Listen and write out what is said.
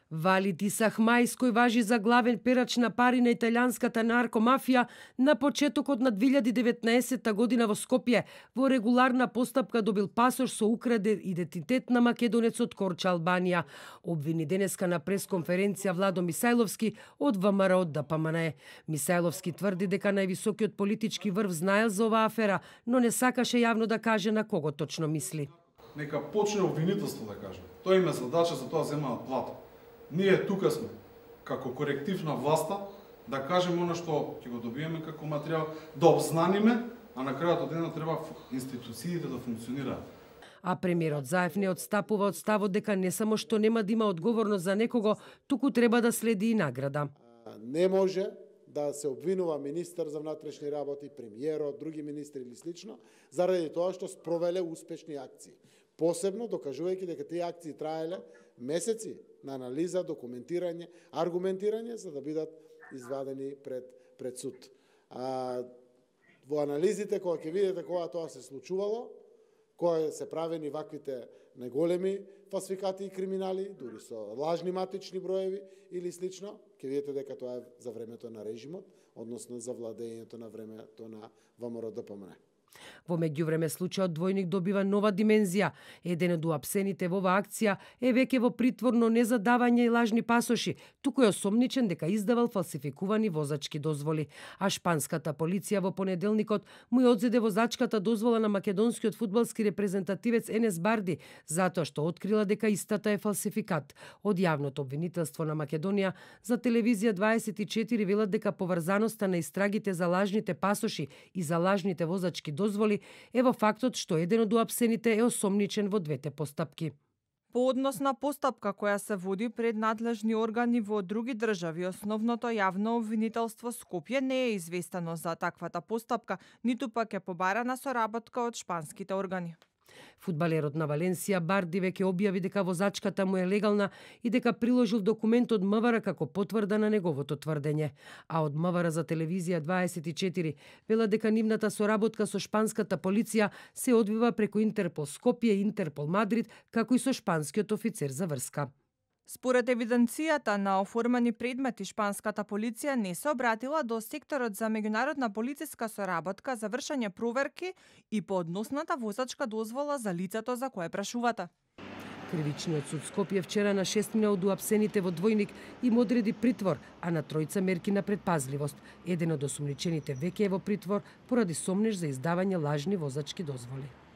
Валид Исахмаис, кој важи за главен перач на пари на италијанската наркомафија, на почетокот на 2019 година во Скопје во регуларна постапка добил пасош со украден идентитет на македонецот Корча Албанија. Обвини денеска на пресконференција Владо Мисајловски од ВМРО ДПМНЕ. Мисајловски тврди дека највисокиот политички врв знаел за оваа афера, но не сакаше јавно да каже на кого точно мисли. Нека почне обвинителство да каже. Тој има задача, за тоа земаат плата. Ние тука сме, како коректив на власта, да кажеме оно што ќе го добиеме како материјал, да обзнаниме, а на крајот од денот треба институциите да функционираат. А премиерот Заев не одстапува од ставот дека не само што нема да има одговорност за некого, туку треба да следи и награда. Не може да се обвинува министер за внатрешни работи, премиерот, други министри или слично, заради тоа што спровеле успешни акции. Посебно докажувајќи дека тие акции траеле месеци на анализа, документирање, аргументирање за да бидат извадени пред суд. Во анализите кога ќе видите кога тоа се случувало, кога се правени ваквите неголеми фалсификати и криминали, дури со лажни матични броеви или слично, ќе видите дека тоа е за времето на режимот, односно за владењето на времето на ВМРО ДПМНЕ. Во меѓувреме случајот двојник добива нова димензија. Еден од уапсените во оваа акција е веќе во притвор, но не за давање и лажни пасоши, туку е осомничен дека издавал фалсификувани возачки дозволи. А шпанската полиција во понеделникот му ја одзеде возачката дозвола на македонскиот фудбалски репрезентативец Енес Барди, затоа што открила дека истата е фалсификат. Од јавното обвинителство на Македонија за телевизија 24 велат дека поврзаноста на истрагите за лажните пасоши и за лажните возачки дозволи е во фактот што еден од уапсените е осомничен во двете постапки. По однос на постапка која се води пред надлежни органи во други држави, основното јавно обвинителство Скопје не е известено за таквата постапка, ниту пак е побарана соработка од шпанските органи. Фудбалерот на Валенсија Барди веќе објави дека возачката му е легална и дека приложил документ од МВР како потврда на неговото тврдење. А од МВР за телевизија 24 вела дека нивната соработка со шпанската полиција се одвива преку Интерпол Скопје и Интерпол Мадрид, како и со шпанскиот офицер за врска. Според евиденцијата на оформени предмети, шпанската полиција не се обратила до секторот за меѓународна полициска соработка за вршење проверки и по односната возачка дозвола за лицето за кое прашувате. Кривичниот суд Скопје вчера на 6 од уапсените во двојник им одреди притвор, а на тројца мерки на предпазливост. Еден од осумничените веќе е во притвор поради сомнеж за издавање лажни возачки дозволи.